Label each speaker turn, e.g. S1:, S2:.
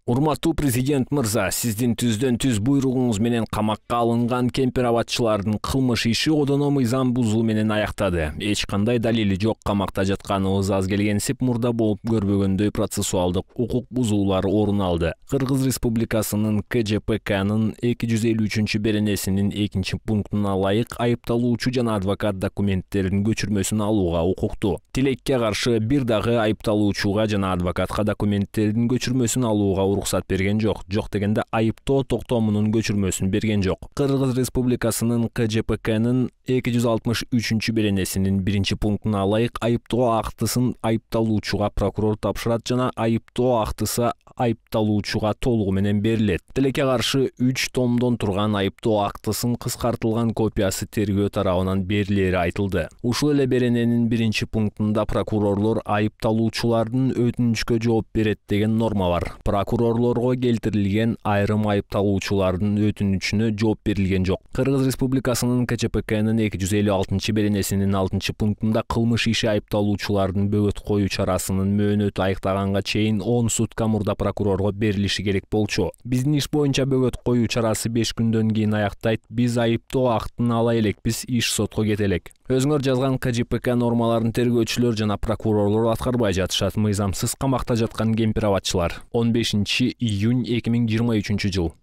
S1: Урматтуу президент мырза, сиздин түздөн түз буйругуңуз менен камакка алынган кемпир абадчылардын кылмыш иши одоно мыйзам бузуу менен аяктады. Эч кандай далили жок, камакта жатканыбыз аз келгенсип мурда болуп көрбөгөндөй процессуалдык укук бузуулар орун алды. Кыргыз Республикасынын КЖПКнын 253 беренесинин 2 пунктуна ылайык айыпталуучу жана адвокат документтеринин көчүрмөсүн алууга укуктуу. Тилекке каршы бир дагы айыпталуучуга жана адвокатка документтеринин көчүрмөсүн алууга уруксат берген жок. Жок дегенде айыптоо токтомунун көчүрмөсүн берген жок. Кыргыз Республикасынын КЖПКнын 263 беренесинин 1 пунктуна ылайык айыптоо актысын айыпталуучуга прокурор тапшырат жана айыптоо актысы айыпталуучуга толугу менен берилет. Тилекке каршы 3 томдон турган айыптоо актысын кыскартылган копиясы тергөө тарабынан берилери айтылды. Ушул эле берененин 1 пунктунда прокурорлор айыпталуучулардын өтүнүчкө жооп берет деген норма бар. Прокурорлорго келтирилген айрым айыпталуучулардын өтүнүчүнө жооп берилген жок. Кыргыз Республикасынын КЧПКнын 256 беренесинин 6 пунктунда кылмыш иши айыпталуучулардын бөгөт коюу чарасынын мөөнөтү аяктаганга чейин 10 сутка мурда прокурорго берилиши керек болчу. Биздин иш боюнча бөгөт коюу чарасы 5 күндөн кийин аяктайт. Биз айыптоо актын ала элекпиз, иш сотко кете элек. Өзүңөр жазган КЖПК нормаларын тергөөчүлөр жана прокурорлор аткарбай жатышат. Мыйзамсыз камакта жаткан кемпир абадчылар. 15 июнь 2023 жыл.